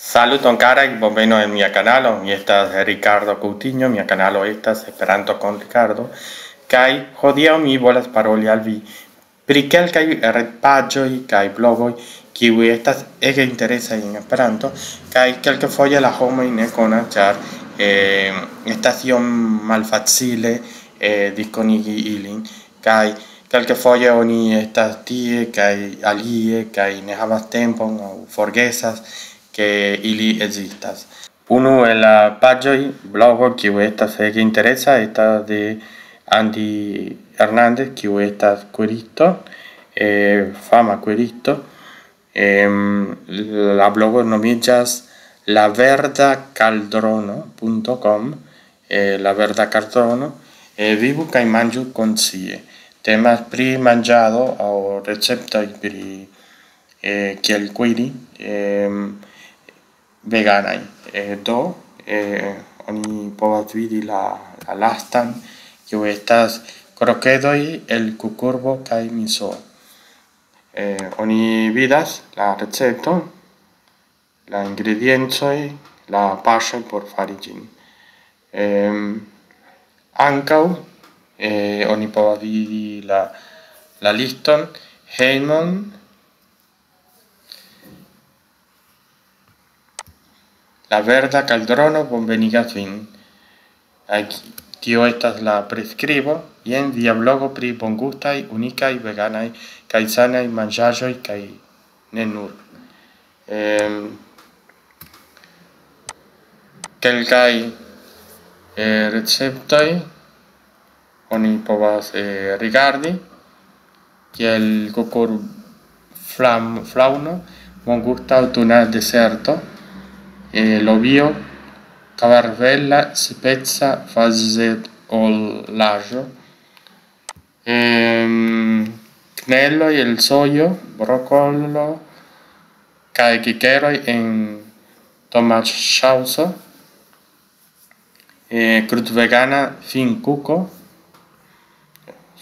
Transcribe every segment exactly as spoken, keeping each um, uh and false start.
Saluton karaj, bonvenon en mia kanalo. Mi estas Ricardo Coutinho, mia kanalo estas Esperanto kun Ricardo. Kaj hodiaŭ mi volas paroli al vi pri kelkaj retpaĝoj kaj blogoj, kiuj estas ege interesaj en Esperanto, kaj kelkfoje la homoj ne konas, ĉar eh, estas iom malfacile eh, diskonigi ilin, kaj kelkfoje oni estas tie kaj alie, kaj ne havas tempon aŭ forgesas, ke ili ekzistas. Unu el la paĝoj, blogo, kiu estas ege interesa, estas de Andy Hernández, kiu estas kuiristo, eh, fama kuiristo. Em, la blogo nomiĝas laverdakaldrono.com, eh, laverdakaldrono, eh, vivu kaj manĝu konscie. Temas pri manĝado aŭ receptoj pri eh, kiel kuiri, em, veganaj. Eh, do, eh, oni povas vidi la, la lastan, kiu estas krokedoj el kukurbo kaj miso. Eh, oni vidas la recepton, la ingrediencoj, la paŝoj por fari ĝin. Em, ankaŭ eh, oni povas vidi la, la liston hejmon. La verda kaldrono bonvenigas vin. Aquí, tio estas la priskribo. Jen via blogo pri bongustaj, unikaj, veganaj kaj sanaj manĝaĵoj kaj ne nur. Em, kelkaj eh, receptoj oni povas eh, rigardi, kiel kukur flam, flauno, bongusta aŭtuna deserto, eh, lobio, kvarvela speca fazetolaĵo, em, kneloj el sojo, brokolo kaj kikeroj en tomaŝaŭso, eh, krutvegana finkuko,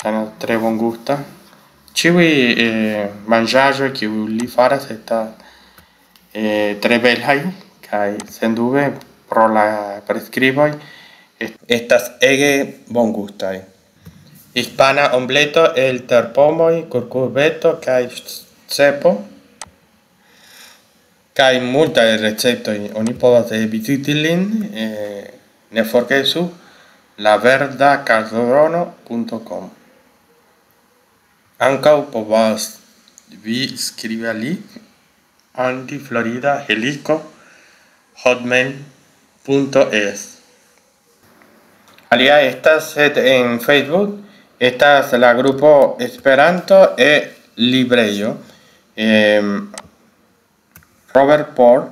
ŝajnas tre bongusta. Ĉiuj eh, manĝaĵoj, kiuj li faras, estas eh, tre belaj, kaj sendube pro la priskriboj est- estas ege bongustaj. Hispana ombleto el terpomoj, kurkubeto kaj cepo. Kaj multaj receptoj. Oni povas eh, viziti lin, eh, ne forgesu laverdakaldrono.com. Ankaŭ povas vi skribi al li, Andy Florida Helico hotmail.es. Alia estas, sed en Facebook estas la grupo Esperanto e librejo. Em, Robert Paul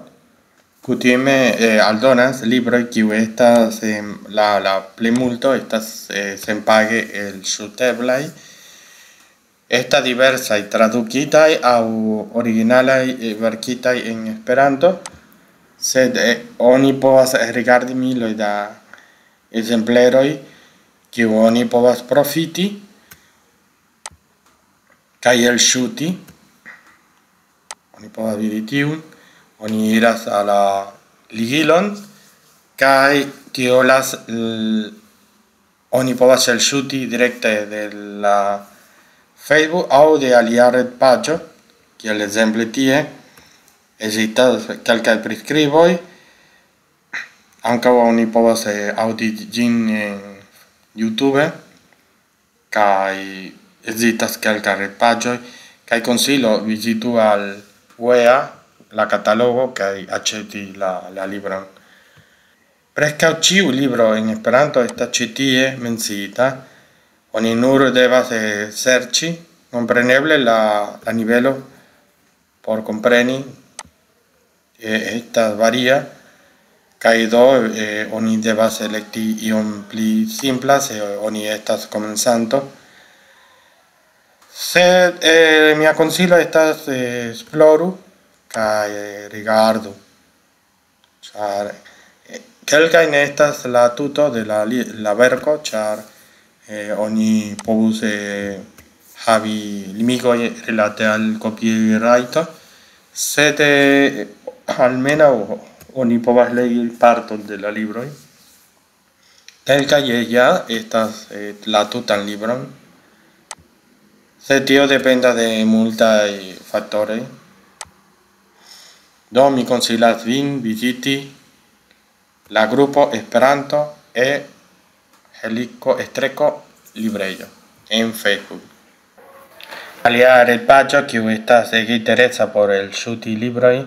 kutime eh, aldonas libroj, kiu estas em, la, la plimulto estas eh, senpage elŝuteblaj. Estas diversaj tradukitaj aŭ originalaj eh, verkitaj en Esperanto, sed eh, oni povas rigardi miloj da ekzempleroj, kiu oni povas profiti kaj elŝuti. Oni povas vidi tiun. Oni iras al la ligilon, kaj tio las l- oni povas elŝuti direkte de la Facebook aŭ de alia retpaĝo, kiel ekzemple tie. Ekzistas kelkaj priskriboj. Ankaŭ oni povas eh, aŭdi ĝin en YouTube, kaj ekzistas kelkaj retpaĝoj, kaj konsilo: vizitu al Wea, la katalogo, kaj aĉeti la, la libron. Preskaŭ ĉiu libro en Esperanto estas ĉi tie menciita. Oni nur devas eh, serĉi, kompreneble la, la nivelo por kompreni eh, estas varia, kaj do eh, oni devas elekti iom pli simpla se oni estas komencanto. Sed eh, mia konsilo estas eh, esploru kaj eh, rigardu. Ĉar eh, kelkaj ne estas la tuto de la, li- la verko, ĉar eh, oni povus eh, havi limigoj rilate al copyrajto, sed eh, Almenaŭ oni povas legi parton de la libroj. Kelkaj ja estas, eh, la tutan libron. Sed tio dependas de multaj faktoroj. Do, mi konsilas vin viziti la grupo Esperanto e Heliko Estreko librejo en Facebook. Alia retpaĝo, kiu estas ege interesa por elŝuti libroj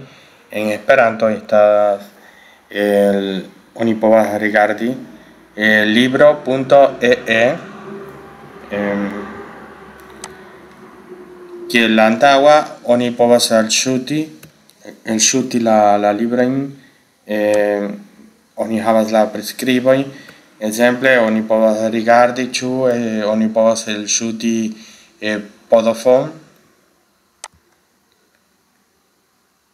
en Esperanto, estas el, oni povas rigardi, eh, libro punto e e, em, kiel la antaŭa oni povas elŝuti, elŝuti la, la librojn, eh, oni havas la priskribojn. Ekzemple, oni povas rigardi, ĉu, eh, oni povas elŝuti, eh, Podofon,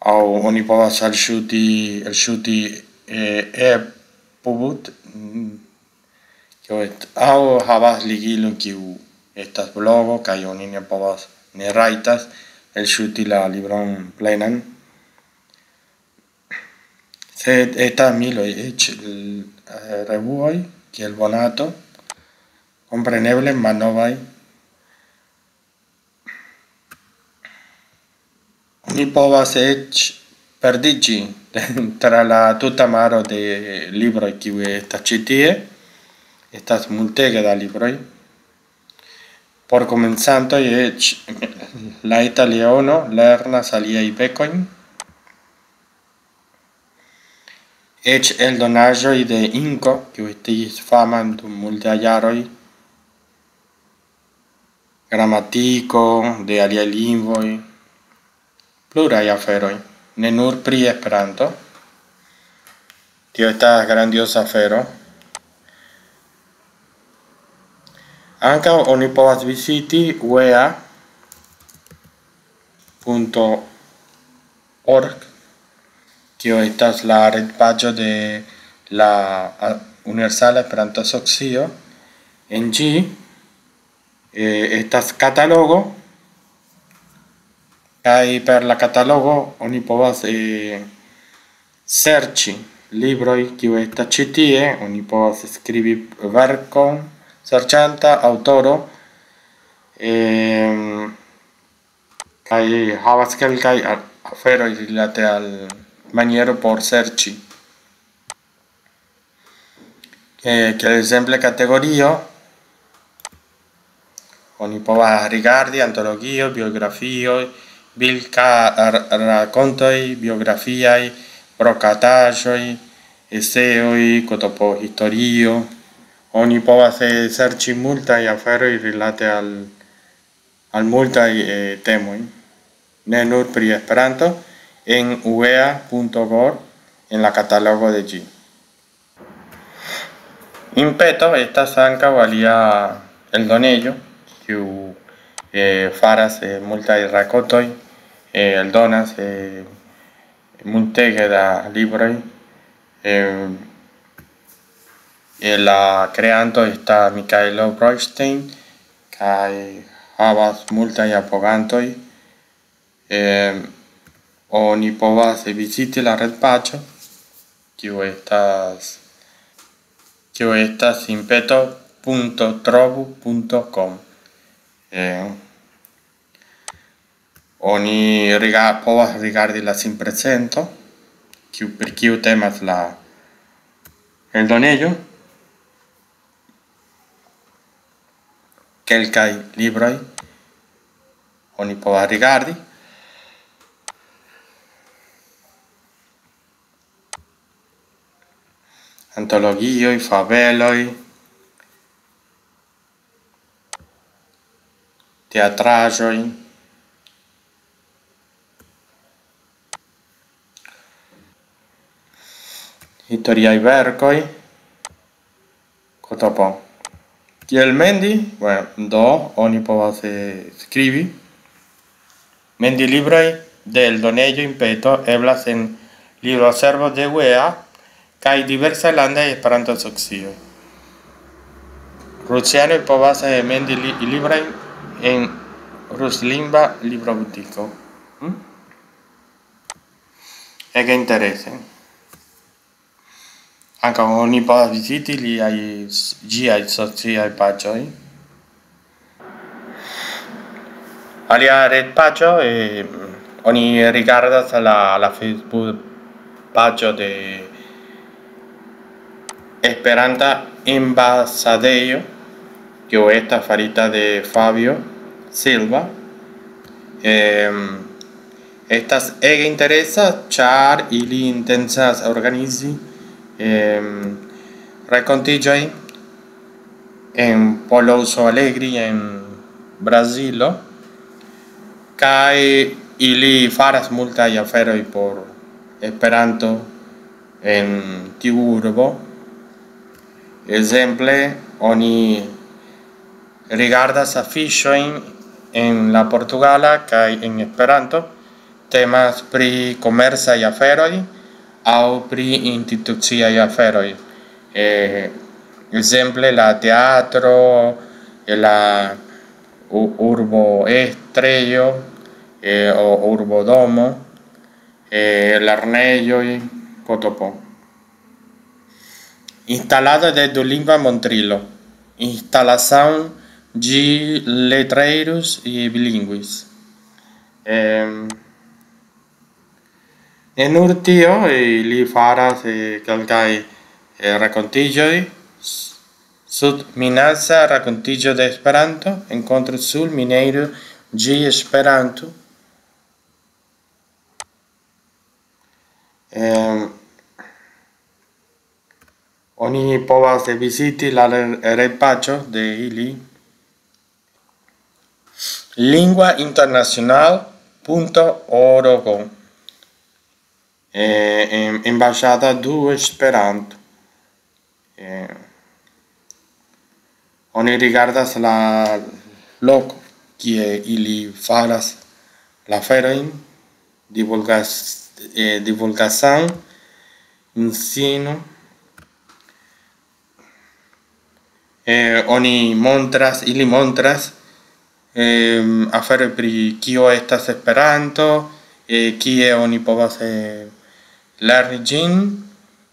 aŭ oni povas elŝuti, elŝuti, eh, e-pubut, mm, kio est-, aŭ havas ligilon, kiu estas blogo, kaj oni ne povas, ne rajtas elŝuti la libron plenan. Sed estas miloj eĉ, eh, revuoj, kiel Bonato, kompreneble malnovaj. Oni povas eĉ perdiĝi tra la tuta maro de libroj, kiuj estas ĉi tie. Estas multege da libroj. Por komencantoj eĉ la eta leono lernas aliaj bekojn. Eĉ eldonaĵoj de Inko, kiu estis fama dum multaj jaroj, gramatiko de aliaj lingvoj, pluraj aferoj, ne nur pri Esperanto. Tio estas grandioza afero. Ankaŭ oni povas viziti uea punto org, kio estas la retpaĝo de la, a, Universala Esperanto-Asocio. En ĝi, eh, estas katalogo, kaj per la katalogo oni povas, eh, serĉi libroj, kiu estas ĉi tie. Oni povas skribi verkon, serĉanta aŭtoro, em, kaj havas kelkaj a-, aferoj rilate al maniero por serĉi. Eh, kiel ekzemple kategorio, oni povas rigardi antologio, biografioj, bilka-, r-, rakontoj, biografiaj, brokataĵoj, eseoj, kotopo historio. Oni povas, eh, serĉi multaj aferoj rilate al, al multaj, eh, temoj, ne nur pri Esperanto, en uea punto gov en la katalogo de ĝi. Impeto estas ankaŭ alia eldonejo, kiu, eh, faras, eh, multaj rakontoj, eh, eldonas, eh, multege da libroj. Eh, eh, la kreanto estas Mikaelo Broistein, kaj havas multaj apogantoj. Eh, oni povas viziti la retpaĝo, kiu estas, kiu estas impeto punto trovu punto com. Eh, oni riga-, povas rigardi la sinprezento, kiu, pri kiu temas la eldonejo. Kelkaj libroj oni povas rigardi. Antologioj, fabeloj, teatraĵoj, historiaj verkoj, kotopo. Kiel mendi? Bueno, do, oni povas, eh, skribi. Mendi libroj de eldonejo Impeto eblas en libroservo de uea kaj diversaj landaj Esperanto-asocioj. Rusianoj povas, eh, mendi li-, librojn en ruslingva librobutiko. Hm? Ege interese. Ankaŭ oni povas viziti liaj, ĝiaj sociaj paĝoj. Alia retpaĝo, eh, oni rigardas la, la Facebook-paĝo de Esperanta Ambasadejo, kiu estas farita de Fabio Silva. Em, estas ege interesa, ĉar ili intencas organizi, em, rakontiĝojn en Pouso Alegre en Brazilo, kaj ili faras multaj aferoj por Esperanto en tiu urbo. Ekzemple, oni rigardas afiŝojn en la portugala kaj en Esperanto, temas pri komercaj aferoj aŭ pri instituciaj aferoj. Eh, ekzemple, la teatro, la u-, urbo estrejo, eh, o urbodomo, eh, lernejoj, potopo. Instalado de dulingva montrilo. Instalación de letreros y bilingües. Em, en Urtio, eh, li faras, eh, kelkaj, eh, rakontiĝoj. S-, sub minaca rakontiĝo de Esperanto, encontro sul mineiro de Esperanto. Em, oni povas viziti la re-, retpaĝo de ili. Lingua internacional punto org. Eh, em, embajada du Esperanto. Eh, oni rigardas la loko, kie ili faras la aferojn, divulgas-, eh, divulgasan, ensino. Eh, oni montras, ili montras, em, aferoj pri kio estas Esperanto, eh, kie oni povas, eh, lerni ĝin,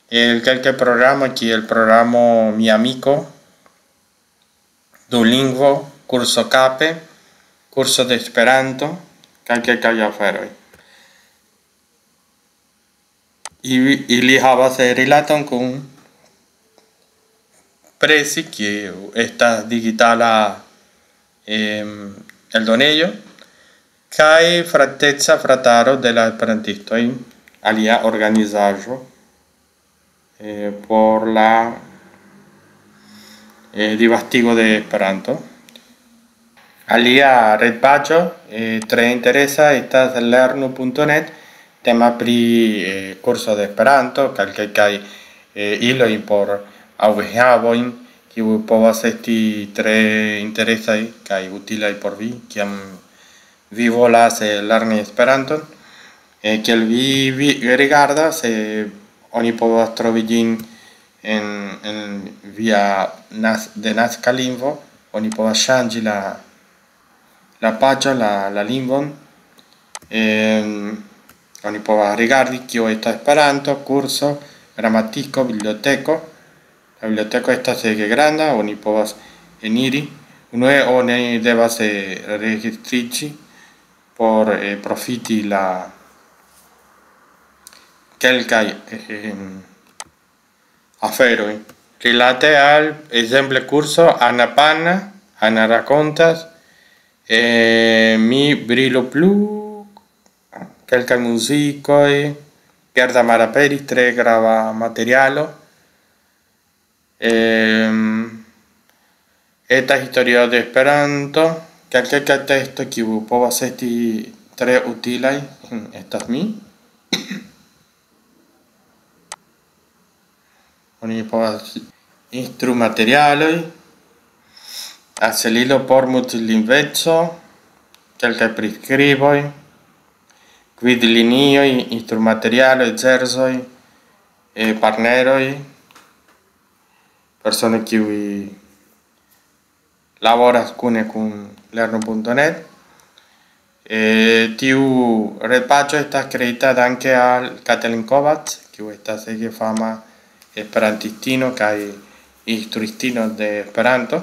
el kelkaj programo, kiel programo Mi Amiko, Duolingo, Kurso Kape, Kurso de Esperanto, kaj kelkaj aferoj. Ili, ili havas, eh, rilaton kun Presi, kiu estas digitala, em, eldonejo, kaj Frateca Frataro de la Esperantistoj, alia organizaĵo, eh, por la, eh, disvastigo de Esperanto. Alia retpaĝo, eh, tre interesa estas lernu punto net, tema pri, eh, kurso de Esperanto, kaj kelkaj, eh, iloj por aŭ enhavojn, kiuj povas esti tre interesaj kaj utilaj por vi, kiam vi volas, eh, lerni Esperanton. Eh, kiel vi, vi rigardas, eh, oni povas trovi ĝin en, en via nas-, de naska lingvo, oni povas ŝanĝi la, la paĝon, la, la lingvon. Em, oni povas rigardi, kio estas Esperanto, kurso, gramatiko, biblioteko. La biblioteko estas ege granda, oni povas eniri. Unue oni devas, eh, registriĝi por, eh, profiti la kelkaj, eh, aferoj. Rilate al, ekzemple, kurso Ana Pana, Ana rakontas, eh, Mi brilo plu, kelkaj muzikoj, Gerda malaperis, tre grava materialo. Em, eta historio de Esperanto, kelkaj teksto kiu povas esti tre utilaj, estas mi. Oni povas instrumaterialoj, aselilo por multlingveco, kelkaj priskriboj, gvidlinioj, instrumaterialoj, zerzoj, eh, partneroj, personoj kiuj laboras kune kun lernu punto net. Eh, tiu retpaĝo estas kreita danke al Katalin Kovac, kiu estas ege fama esperantistino kaj instruistino de Esperanto.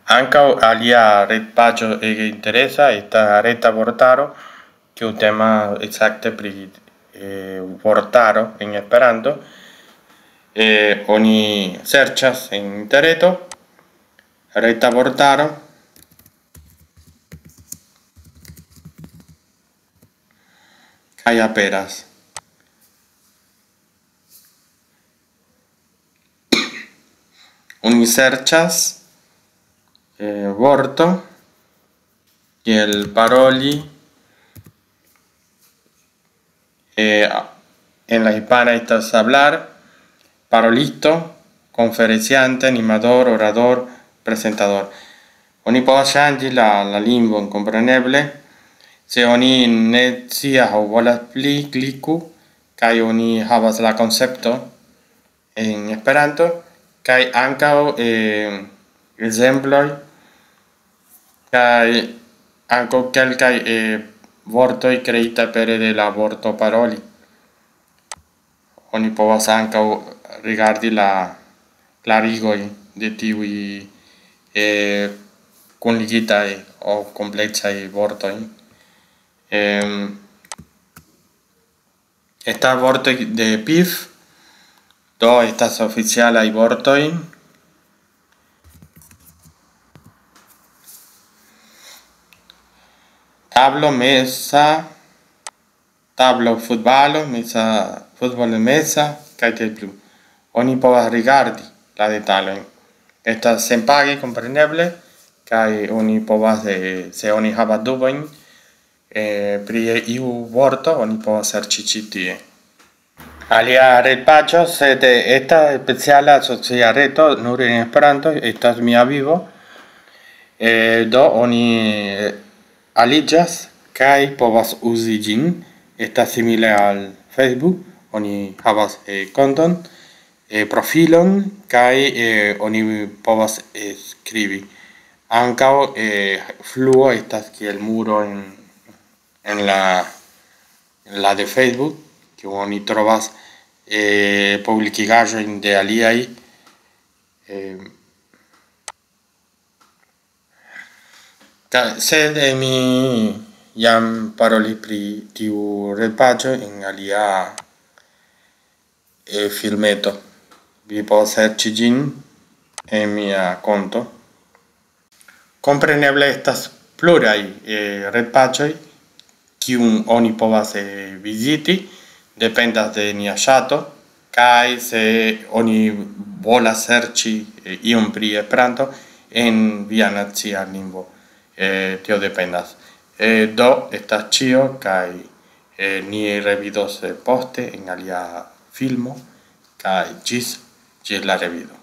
Ankaŭ alia retpaĝo ege interesa estas Reta Vortaro, kiu tema ekzakte pri, eh, vortaro en Esperanto. Eh, oni serĉas en interreto Reta Vortaro kaj aperas. Oni serĉas, eh, vorto kiel paroli, eh, en la hispana estas hablar, parolisto, conferenciante, animador, orador, presentador. Oni povas ŝanĝi la, la lingvon, kompreneble. Se oni ne scias aŭ volas pli, kliku, kaj oni havas la koncepto en Esperanto, kaj ankaŭ, eh, ekzemploj, kaj ankaŭ kelkaj, eh, vortoj kreita pere de la vorto paroli. Oni povas ankaŭ rigardi la klarigoj de tiuj, eh, kunligitaj aŭ kompleksaj vortoj. Em, estas vortoj de pif, do estas oficialaj vortoj. Tablo, mesa, tablo, futbalo, mesa, futbolo mesa, kaj tiel plu. Oni povas rigardi la detalojn. Estas senpage, kompreneble, kaj oni povas, eh, se oni havas dubojn, eh, pri iu vorto, oni povas serĉi ĉi tie. Alia retpaĝo, sed estas speciala socia reto, nur en Esperanto, estas Mia Vivo. Eh, do oni, eh, aliĝas kaj povas uzi ĝin. Estas simile al Facebook, oni havas, eh, konton, eh, profilon, kaj, eh, oni povas, eh, skribi. Ankaŭ, eh, fluo estas kiel muro en, en la, en la de Facebook, kiu oni trovas, eh, publikigaĵojn de aliaj. Eh, ka-, sed, eh, mi jam parolis pri tiu retpaĝo en alia, eh, filmeto. Vi povas serĉi ĝin en mia konto. Kompreneble estas pluraj, eh, retpaĝoj, kiun oni povas, eh, viziti, dependas de nia ŝato, kaj se oni volas serĉi, eh, ion pri Esperanto en via nacia lingvo, eh, tio dependas. Eh, do, estas ĉio, kaj, eh, ni revidos, eh, poste en alia filmo, kaj ĝis, ĝis la revido.